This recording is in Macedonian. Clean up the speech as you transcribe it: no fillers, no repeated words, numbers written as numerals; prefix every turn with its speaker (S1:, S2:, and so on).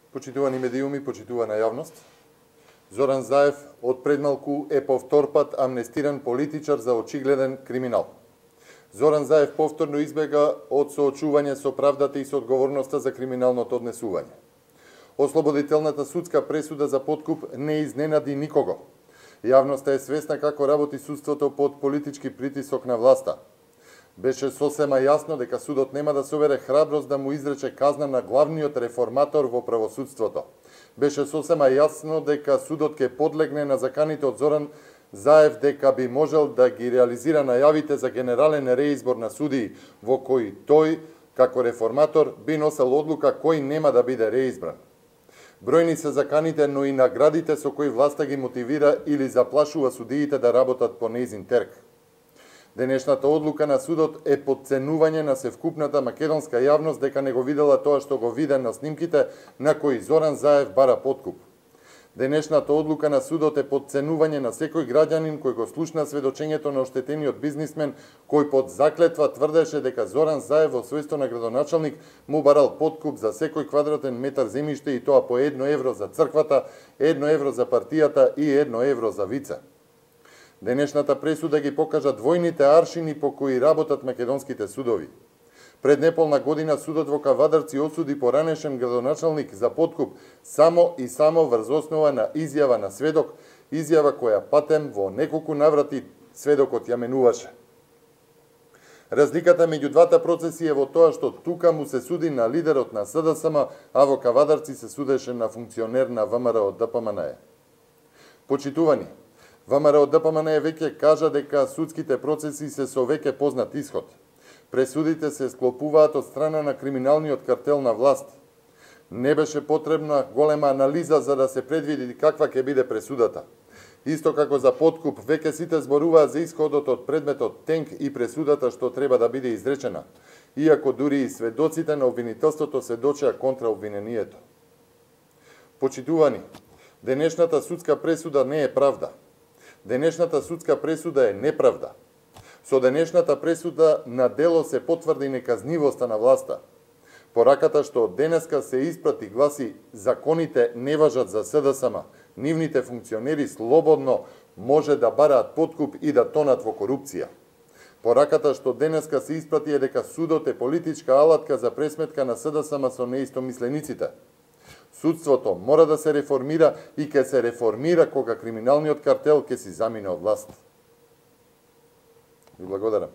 S1: Почитувани медиуми, почитувана јавност, Зоран Заев од предмалку е повторпат амнестиран политичар за очигледен криминал. Зоран Заев повторно избега од соочување со правдата и со одговорноста за криминалното однесување. Ослободителната судска пресуда за подкуп не изненади никого. Јавноста е свесна како работи судството под политички притисок на власта. Беше сосема јасно дека судот нема да собере храброст да му изрече казна на главниот реформатор во правосудството. Беше сосема јасно дека судот ќе подлегне на заканите од Зоран Заев дека би можел да ги реализира најавите за генерален реизбор на судии, во кој тој, како реформатор, би носел одлука кој нема да биде реизбран. Бројни се заканите, но и наградите со кои власта ги мотивира или заплашува судиите да работат по нејзин терк. Денешната одлука на судот е подценување на севкупната македонска јавност дека не го видела тоа што го виде на снимките на кои Зоран Заев бара подкуп. Денешната одлука на судот е подценување на секој граѓанин кој го слушна сведочењето на оштетениот бизнисмен кој под заклетва тврдеше дека Зоран Заев во својство на градоначалник му барал подкуп за секој квадратен метар земјиште и тоа по 1 евро за црквата, 1 евро за партијата и 1 евро за вице. Денешната пресуда ги покажа двојните аршини по кои работат македонските судови. Пред неполна година судот во Кавадарци осуди поранешен градоначалник за подкуп само и само врз основа на изјава на сведок, изјава која патем во неколку наврати сведокот ја менуваше. Разликата меѓу двата процеси е во тоа што тука му се суди на лидерот на СДСМ, а во Кавадарци се судеше на функционер на ВМРО ДПМНЕ. Почитувани, ВМРО ДПМНЕ веќе кажа дека судските процеси се со веќе познат исход. Пресудите се склопуваат од страна на криминалниот картел на власт. Не беше потребна голема анализа за да се предвиди каква ќе биде пресудата. Исто како за подкуп, веќе сите зборуваат за исходот од предметот тенк и пресудата што треба да биде изречена, иако дури и сведоците на обвинителството сведочеа контра обвинението. Почитувани, денешната судска пресуда не е правда. Денешната судска пресуда е неправда. Со денешната пресуда на дело се потврди неказнивоста на власта. Пораката што денеска се испрати гласи законите не важат за СДСМ, нивните функционери слободно може да бараат подкуп и да тонат во корупција. Пораката што денеска се испрати е дека судот е политичка алатка за пресметка на СДСМ со неистомислениците. Судството мора да се реформира и ќе се реформира кога криминалниот картел ќе си замине од власт. Ви благодарам.